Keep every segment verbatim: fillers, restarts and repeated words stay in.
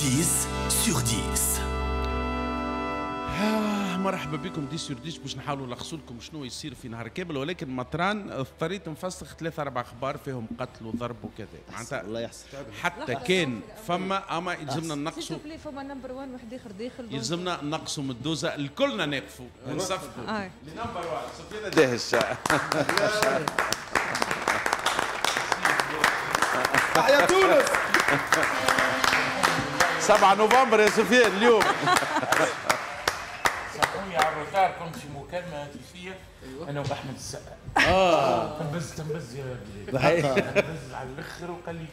عشرة sur عشرة. آه مرحبا بكم عشرة sur عشرة باش نحاولوا نلخصوا لكم شنو يصير في نهار كامل، ولكن مطران اضطريت نفسخ ثلاثة أربع أخبار فيهم قتل وضرب وكذا، معناتها الله يحسن حتى كان فما أما يلزمنا نقصوا فما number واحد واحد آخر داخل، يلزمنا نقصوا من الدوزة الكلنا نقفوا ونصفقوا ل number واحد سفيان داهش. تحيا تونس. سبعة نوفمبر يا سفيان اليوم. سامحوني على ال retard، كنت في مكالمة هاتفية أنا وأحمد السقا. اه تنبز تنبز يا بلال، تنبز على الآخر وقال لي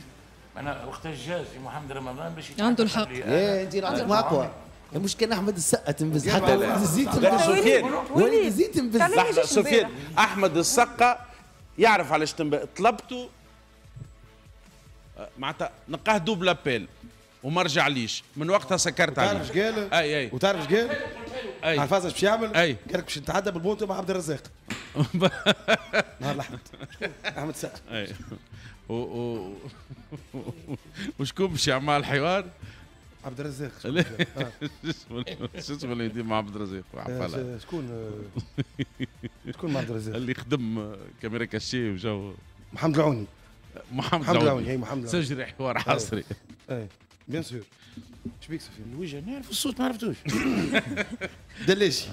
أنا وقتاش جا سي محمد رمضان باش عنده الحق. إيه أنت عندك أقوى، مش كان أحمد السقا تنبز حتى وليد الزيت تنبز. سفيان وليد الزيت تنبز. لحظة سفيان، أحمد السقا يعرف علاش تنبز، طلبته معناتها نلقاه double appel وما رجعليش، من وقتها سكرت عليه. وتعرف اش قال؟ اي اي وتعرف اش قال؟ اي عارف اش باش يعمل؟ اي قال لك باش نتعدى بالبونتو مع عبد الرزاق. نهار الاحد احمد السقا. اي و و وشكون باش يعمل الحوار؟ عبد الرزاق. شو اسمه اللي يدير مع عبد الرزاق؟ شكون شكون مع عبد الرزاق؟ اللي خدم caméra cachée وجو محمد العوني. محمد العوني، اي محمد العوني سجري حوار حصري. اي bien sûr. شبيك سفيان؟ الوجه نعرف، الصوت ما عرفتوش. دلاشي.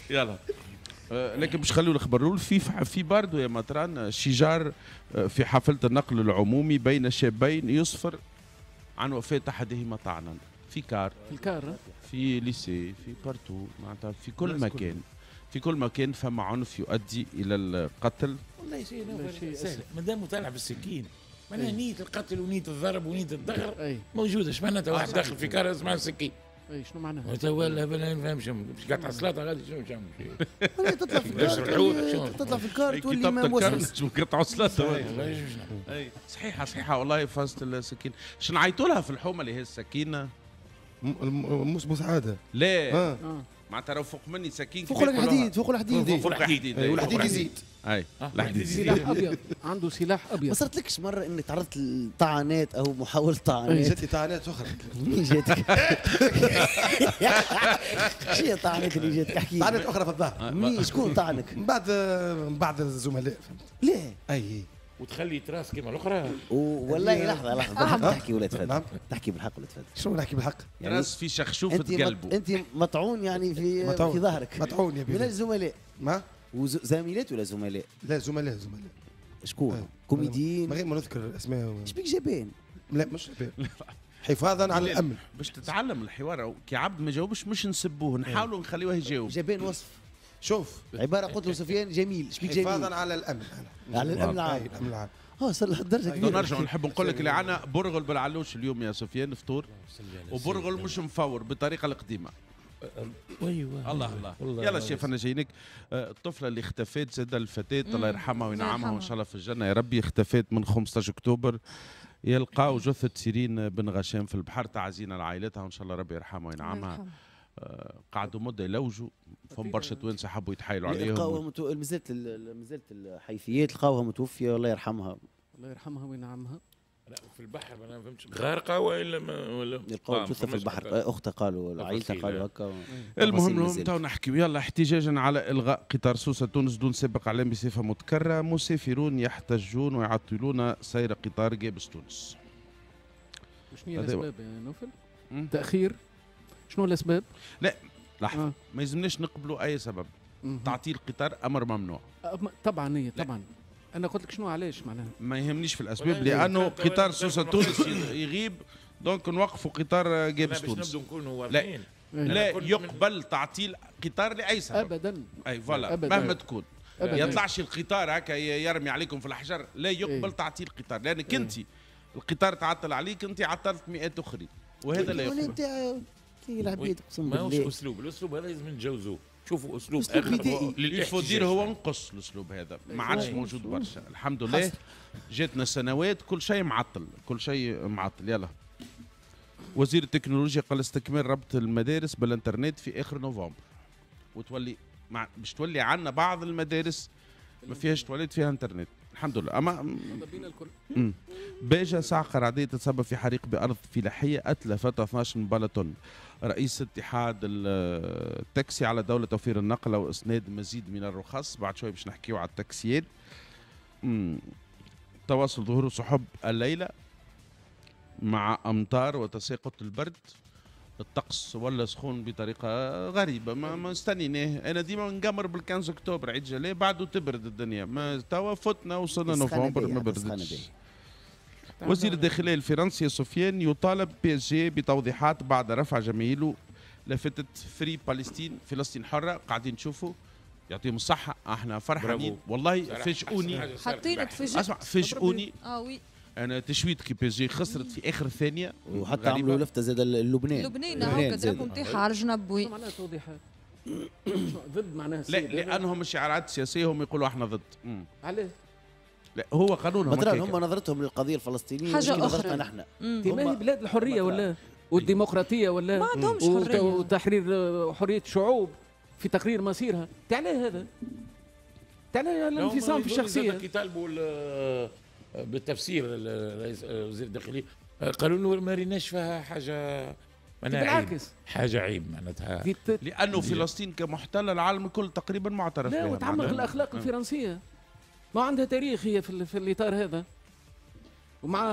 يلا لكن باش نخليو الخبر الاول، في في باردو يا مطران شجار في حافلة النقل العمومي بين شابين يصفر عن وفاه احدهما طعنا في car، في ال car، في lycée، في partout، معناتها في كل مكان، في كل مكان فما عنف يؤدي الى القتل. والله شيء سهل، ما دام طالع بالسكين معناها نية القتل ونية الضرب ونية الدغر موجودة. اش معناتها واحد داخل في car اسمع السكين؟ اي شنو معناها؟ ولا ما نفهمش، باش قطع سلاطة غادي شنو تعمل؟ تطلع في ال car، تطلع في ال car تولي ما موسوس. قطعوا سلاطة. صحيحة صحيحة والله فازت السكين. شنو نعيطوا لها في الحومة اللي هي السكينة؟ موس بوسعادة. لا معناتها راهو فوق مني سكين، فوق الحديد، فوق الحديد، فوق الحديد، والحديد يزيد. اي الحديد سلاح ابيض، عنده سلاح ابيض. ما صارتلكش مرة انك تعرضت لطعنات او محاولة طعنات؟ جاتني طعنات اخرى. منين جاتك؟ شنو هي الطعنات اللي جاتك؟ احكي لي. طعنات اخرى في الظهر. منين شكون طعنك؟ من بعد من بعد الزملاء، فهمت؟ ليه؟ اي وتخلي trace كيما الاخرى. والله لحظة لحظة، بالحق تحكي ولا تفضل؟ تحكي بالحق ولا تفضل؟ شنو نحكي بالحق؟ يعني trace في شخشوفه قلبه. انت مطعون يعني في مطعون. في ظهرك. مطعون يا بيه. من الزملاء. ما؟ وزميلات ولا زملاء؟ لا زملاء زملاء. شكون؟ آه. كوميديين؟ من غير ما نذكر الاسماء. اش بيك جبان؟ لا مش جبان. حفاظا على الامن. باش تتعلم الحوار كي عبد ما جاوبش مش نسبوه، نحاولوا نخليوه يجاوب. جبان وصف. شوف عبارة قلت له سفيان جميل، شبيك جميل؟ حفاظا على الامن. على الامن العام. الامن العام. اه وصل لهالدرجة كبيرة. نرجع نحب نقول لك اللي عندنا برغل بالعلوش اليوم يا سفيان فطور، وبرغل مش مفور بالطريقة القديمة. ايوه الله الله. يلا شيف انا جايينك. الطفلة اللي اختفت زاد الفتاة الله يرحمها وينعمها وان شاء الله في الجنة يا ربي، اختفت من خمسطاش اكتوبر، يلقاو جثة سيرين بن غشام في البحر. تعزينا لعائلتها وان شاء الله ربي يرحمها وينعمها. قعدوا مده يلوجوا، فهم برشا توانسة حبوا يتحايلوا عليهم. لقاوها متو... مازالت مازالت الحيثيات، لقاوها متوفيه الله يرحمها. الله يرحمها وينعمها. لا في البحر انا ما فهمتش، غارقة والا ما ولا لقاو جثة في البحر، اختها قالوا عائلتها قالوا هكا. المهم المهم تو نحكيو. يلا احتجاجا على الغاء قطار سوسة تونس دون سابق اعلام بصفة متكررة، مسافرون يحتجون ويعطلون سير قطار جابس تونس. شنو هي الاسباب يا نوفل؟ تاخير؟ شنو الاسباب؟ لا لحظة آه. ما يلزمناش نقبلوا اي سبب. مم. تعطيل قطار امر ممنوع. طبعا هي طبعا. انا قلت لك شنو علاش معناها. ما يهمنيش في الاسباب لانه قطار سوسة تونس يغيب، donc نوقفوا قطار جابس تونس. باش نكونوا واضحين. لا, لا يقبل تعطيل قطار لاي سبب. ابدا. اي voilà مهما تكون. أبداً. يطلعش القطار هكا يرمي عليكم في الحجر، لا يقبل إيه. تعطيل قطار، لانك إيه. انت القطار تعطل عليك، انت عطلت مئات اخرين، وهذا لا يقبل. العبيد اقسم بالله ماهوش اسلوب، الاسلوب هذا لازم نتجاوزوه، شوفوا اسلوب اخر للاحتجاج. هو نقص الاسلوب هذا، ما عادش موجود برشا الحمد لله. جاتنا سنوات كل شيء معطل، كل شيء معطل. يلا وزير التكنولوجيا قال استكمال ربط المدارس بالانترنت في اخر نوفمبر، وتولي مع باش تولي عندنا بعض المدارس ما فيهاش تواليت فيها انترنت. الحمد لله. اما باجة صعقة رعدية تتسبب في حريق بأرض فلاحية أتلفت اثناش بلطن. رئيس اتحاد التاكسي على دولة توفير النقل وإسناد مزيد من الرخص. بعد شوي باش نحكيو على التاكسيات. تواصل ظهور سحب الليلة مع أمطار وتساقط البرد. الطقس ولا سخون بطريقة غريبة، ما ما استنيناه. انا ديما نقمر بال خمسة عشر اكتوبر عيد جلاء بعده تبرد الدنيا، ما توا فتنا وصلنا نوفمبر ما بردتش. وزير الداخلية الفرنسي سفيان يطالب PSG بتوضيحات بعد رفع جماهيره لافتة Free Palestine، فلسطين حره. قاعدين نشوفوا يعطيهم الصحة، احنا فرحانين والله. فاجئوني، حاطين تفاجئ، اسمع فاجئوني. اه oui انا تشويت كي PSG خسرت في اخر ثانية، وحتى عملوا لفته زاد لبنان. لبنان هكا drapeau نتاعها على الجنب. oui معناها توضيحات ضد معناها لا، لانهم الشعارات السياسية هم يقولوا احنا ضد. علاه؟ لا هو قانونهم، هم نظرتهم للقضية الفلسطينية حاجة اخرى. نحن ما هي بلاد الحرية ولا والديمقراطية ولا ما عندهمش حرية وتحرير حرية شعوب في تقرير مصيرها. تعالى هذا، تعالى الانفصام في الشخصية. كي طالبوا بالتفسير وزير الداخلية قالوا له ما ريناش فيها حاجة، بالعكس حاجة عيب معناتها، لانه فلسطين كمحتله العالم الكل تقريبا معترف بها. لا وتعمق الاخلاق الفرنسية، ما عندها تاريخ هي في, في الاطار هذا، ومع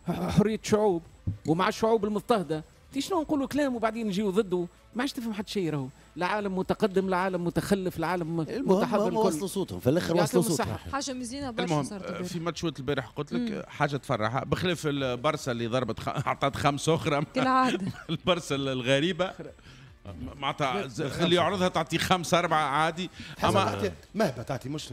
حرية الشعوب ومع الشعوب المضطهده. شنو نقولوا كلام وبعدين نجيو ضده، ما عادش تفهم حتى شيء. راهو لا عالم متقدم لا عالم متخلف، العالم متحضر. الكل وصلوا صوتهم في الاخر، وصلوا صوتهم. حاجة مزيانه برشا صارت في ماتشات البارح. قلت لك حاجة تفرحها بخلاف البرسا اللي ضربت خ... اعطت خمسة اخرى كالعادة. البرسا الغريبة معناتها اللي يعرضها تعطي خمسة اربعة عادي. اما مهبه تعطي مش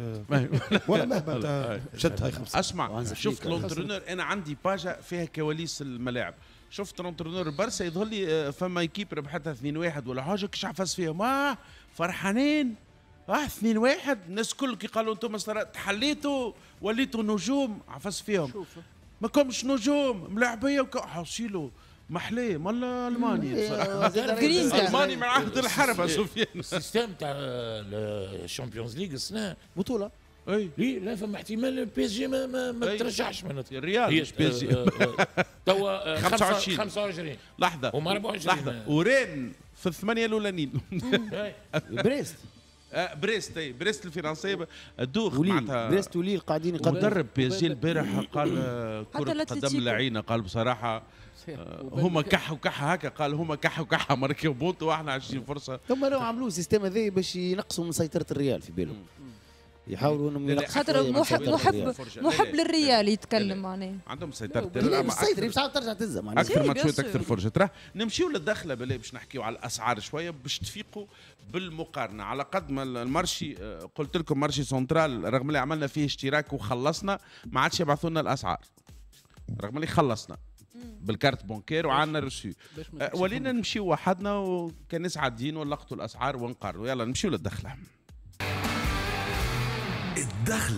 ولا مهبه شدت هاي خمسة. اسمع، شفت l'entraîneur، انا عندي page فيها كواليس الملاعب. شفت l'entraîneur البرسا يظهر لي فما équipe ربحتها اثنين واحد ولا حاجة، كش عفس فيهم اه فرحانين اه اثنين واحد. الناس كل كي قالوا انتم تحليتوا وليتوا نجوم، عفس فيهم ما كومش نجوم ملاعبيه حصيلوا محليه مال الماني بصراحة. الماني من عهد الحرب يا سفيان. ال système تاع ال Champions League السنة بطوله اي لا فما احتمال PSG ما, ما, ما ترجعش معناتها. الريال مش PSG توا خمسة وعشرين خمسة وعشرين لحظة وما أربعة وعشرين لحظة. ورين في الثمانية الاولانيين. بريست بريست اي بريست الفرنسية الدوخ معناتها. بريست وليل قاعدين يقدموا. مدرب PSG البارح قال كرة قدم لعينه، قال بصراحة هما كح وكح هكا، قال هما كح وكح ماركيو بونتو واحنا عشرين فرصة. هم لو عملوا système هذا باش ينقصوا من سيطرة الريال في بالهم، يحاولوا انهم ينقصوا. خاطر محب محب محب للريال يتكلم معناها عندهم سيطرة. السيطرة مش عارف ترجع تزم معناها اكثر ماتشات اكثر فرجه. ترى نمشيو للدخله بالله باش نحكيو على الاسعار شوية باش تفيقوا بالمقارنة. على قد ما ال marché قلت لكم marché central رغم اللي عملنا فيه اشتراك وخلصنا ما عادش يبعثوا لنا الاسعار، رغم اللي خلصنا بال carte bancaire وعندنا reçu، ولينا نمشيو وحدنا وكناس عاديين ونلقطوا الاسعار ونقارنوا. يلا نمشيو للدخله. الدخلة.